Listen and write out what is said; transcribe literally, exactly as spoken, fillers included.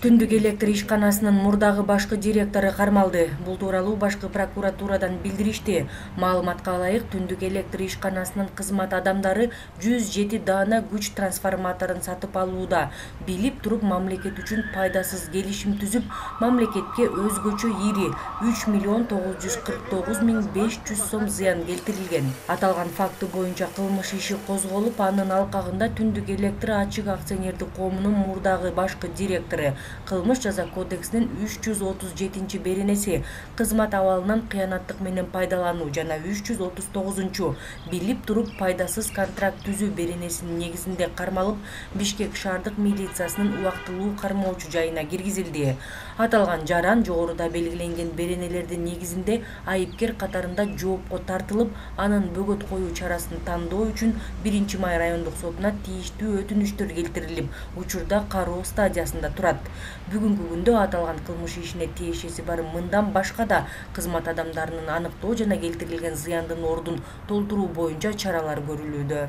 Түндүк электр ишканасынын мурдагы башкы директору кармалды. Бул тууралуу башкы прокуратурадан билдиришти. Маалыматка ылайык, Түндүк электр ишканасынын кызмат адамдары жүз жети даана күч трансформаторун сатып алууда. Билип туруп мамлекет үчүн пайдасыз келишим түзүп, мамлекетке өзгөчө ири үч миллион тогуз жүз кырк тогуз миң беш жүз сом зыян келтирилген. Аталган факты боюнча кылмыш иши козголуп, анын алкагында Түндүк электр ачык акционердик коомунун мурдагы башкы директору Кылмыш жаза кодексинин үч жүз отуз жетинчи беренеси кызмат абалынан кыянаттык менен пайдалануу жана үч жүз отуз тогузунчу билип туруп пайдасыз контракт түзүү беренесинин негизинде кармалып, Бишкек шаардык милициясынын убактылуу кармоочу жайына киргизилди. Аталган жаран жогоруда белгиленген беренелердин негизинде айыпкер катарында жоопко тартылып, анын бөгөт коюу чарасын тандоо үчүн биринчи май райондук сотуна тийиштүү өтүнүчтөр келтирилип, учурда кароо стадиясында турат. Бүгүнкү күндө аталган кылмыш ишине тиешеси бар мындан башка да кызмат адамдарынын аныктоо жана келтирилген зыяндын ордун толтуруу боюнча чаралар көрүлүүдө.